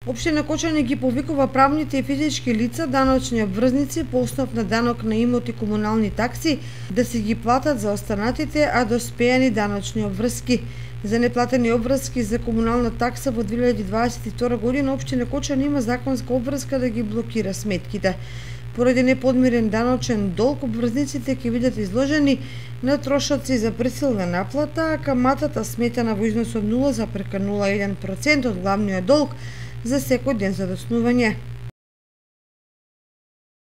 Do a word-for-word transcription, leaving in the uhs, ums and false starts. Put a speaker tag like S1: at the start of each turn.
S1: Општина Кочани ги повикува правните и физички лица, даночни обврзници по основ на данок на имот и комунални такси да се ги платат за останатите, а доспејани даночни обврски. За неплатени обврски за комунална такса во две илјади дваесет и втора година општина Кочани има законска обврска да ги блокира сметките. Поради неподмирен даночен долг, обврзниците ќе бидат изложени на трошоци за присилна наплата, а каматата сметана во износ од нула зарез нула еден процент од главниот долг за секој ден за доцнување.